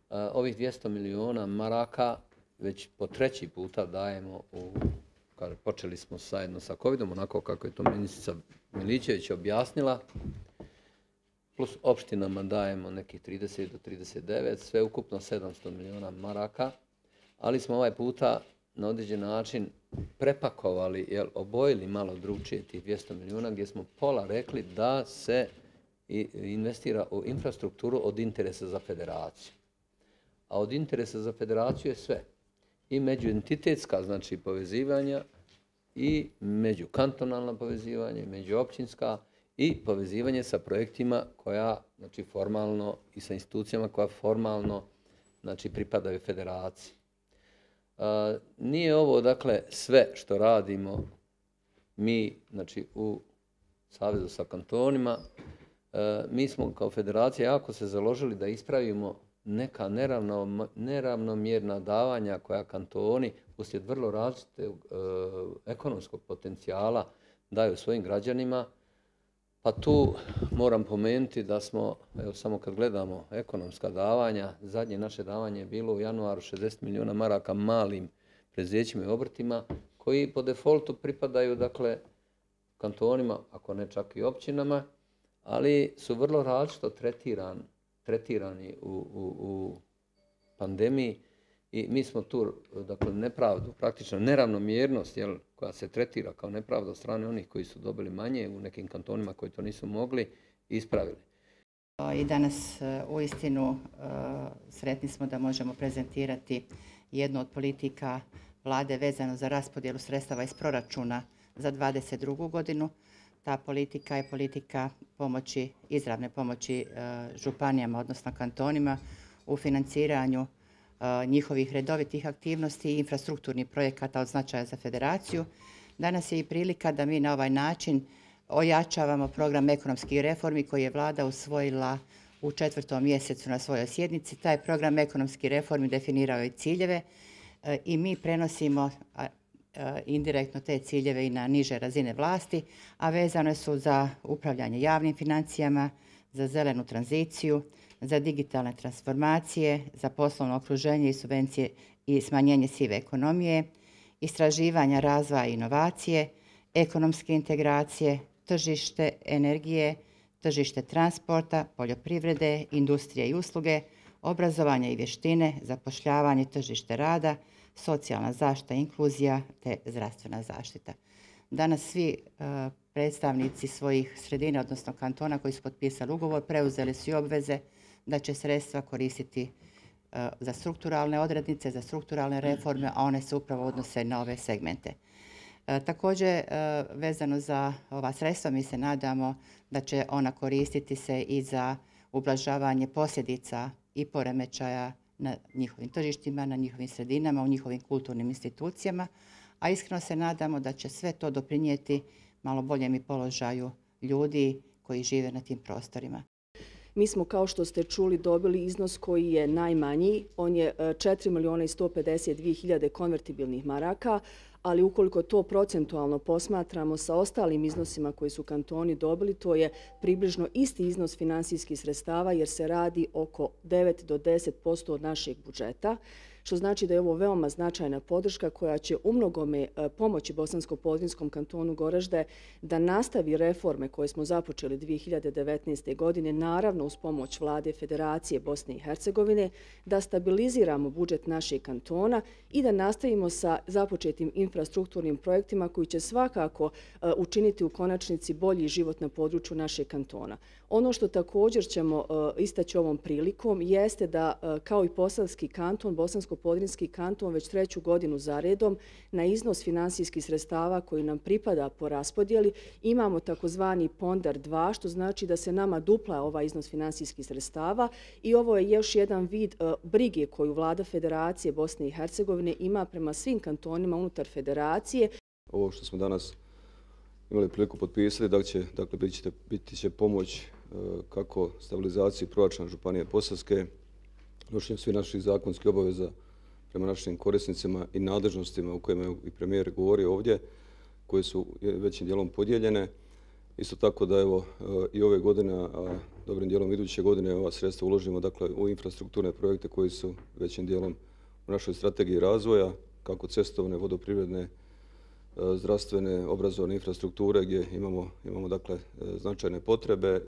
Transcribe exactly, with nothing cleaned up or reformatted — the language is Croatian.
Ovih dvjesto milijuna maraka već po treći puta dajemo u, kada počeli smo zajedno sa covidom, onako kako je to ministrica Miličević objasnila, plus opštinama dajemo nekih trideset do trideset devet, sve ukupno sedamsto milijuna maraka, ali smo ovaj puta na određen način prepakovali, jel, obojili malo drugčije tih dvjesto milijuna, gdje smo pola rekli da se investira u infrastrukturu od interesa za federaciju. A od interesa za federaciju je sve. I međuentitetska, znači povezivanja, i međukantonalna povezivanja, i međuopćinska, i povezivanje sa projektima koja, znači formalno, i sa institucijama koja formalno, znači pripadaju federaciji. A, nije ovo, dakle, sve što radimo mi, znači u Savezu sa kantonima. A, mi smo kao federacija jako se založili da ispravimo neka neravno, neravnomjerna davanja koja kantoni uslijed vrlo različitog e, ekonomskog potencijala daju svojim građanima. Pa tu moram pomenuti da smo, evo samo kad gledamo ekonomska davanja, zadnje naše davanje je bilo u januaru šezdeset milijuna maraka malim preduzećima i obrtima koji po defaultu pripadaju, dakle, kantonima, ako ne čak i općinama, ali su vrlo različito tretirani tretirani u, u, u pandemiji i mi smo tu, dakle, nepravdu, praktično neravnomjernost, jel, koja se tretira kao nepravda od strane onih koji su dobili manje u nekim kantonima koji to nisu mogli, ispravili. I danas uistinu sretni smo da možemo prezentirati jednu od politika vlade vezano za raspodjelu sredstava iz proračuna za dvadeset drugu godinu. Ta politika je politika pomoći, izravne pomoći županijama, odnosno kantonima u financiranju njihovih redovitih aktivnosti i infrastrukturnih projekata od značaja za federaciju. Danas je i prilika da mi na ovaj način ojačavamo program ekonomskih reformi koji je vlada usvojila u četvrtom mjesecu na svojoj sjednici. Taj program ekonomskih reformi definirao je ciljeve i mi prenosimo indirektno te ciljeve i na niže razine vlasti, a vezane su za upravljanje javnim financijama, za zelenu tranziciju, za digitalne transformacije, za poslovno okruženje i subvencije i smanjenje sive ekonomije, istraživanja, razvoja i inovacije, ekonomske integracije, tržište energije, tržište transporta, poljoprivrede, industrije i usluge, obrazovanja i vještine, zapošljavanje, tržište rada, socijalna zaštita, inkluzija te zdravstvena zaštita. Danas svi uh, predstavnici svojih sredina, odnosno kantona koji su potpisali ugovor, preuzeli su i obveze da će sredstva koristiti uh, za strukturalne odrednice, za strukturalne reforme, a one se upravo odnose na ove segmente. Uh, također, uh, vezano za ova sredstva, mi se nadamo da će ona koristiti se i za ublažavanje posljedica i poremećaja na njihovim tržištima, na njihovim sredinama, u njihovim kulturnim institucijama, a iskreno se nadamo da će sve to doprinijeti malo boljem i položaju ljudi koji žive na tim prostorima. Mi smo, kao što ste čuli, dobili iznos koji je najmanji. On je četiri milijuna i sto pedeset dvije hiljade konvertibilnih maraka, ali ukoliko to procentualno posmatramo sa ostalim iznosima koji su kantoni dobili, to je približno isti iznos finansijskih sredstava jer se radi oko devet do deset posto od našeg budžeta, što znači da je ovo veoma značajna podrška koja će umnogome pomoći Bosansko-Podrinjskom kantonu Goražde da nastavi reforme koje smo započeli dvije hiljade devetnaeste. godine, naravno uz pomoć Vlade Federacije Bosne i Hercegovine, da stabiliziramo budžet našeg kantona i da nastavimo sa započetim infrastrukturnim projektima koji će svakako učiniti u konačnici bolji život na području našeg kantona. Ono što također ćemo istaći ovom prilikom jeste da kao i Posavski kanton, Bosansko-Podrinjski kanton već treću godinu za redom na iznos finansijskih sredstava koji nam pripada po raspodjeli imamo takozvani pondar dva, što znači da se nama dupla ovaj iznos finansijskih sredstava i ovo je još jedan vid brige koju Vlada Federacije Bosne i Hercegovine ima prema svim kantonima unutar federacije. Ovo što smo danas imali priliku potpisati, da će, dakle, biti će, biti će pomoć kako stabilizaciji proračuna Županije Posavske, nošenju svih naših zakonskih obaveza prema našim korisnicima i nadležnostima u kojima je i premijer govorio ovdje, koje su većim dijelom podijeljene. Isto tako da evo i ove godine, a dobrim dijelom iduće godine ova sredstva uložimo dakle, u infrastrukturne projekte koji su većim dijelom u našoj strategiji razvoja, kako cestovne, vodoprivredne, zdravstvene, obrazovne infrastrukture gdje imamo, imamo dakle, značajne potrebe.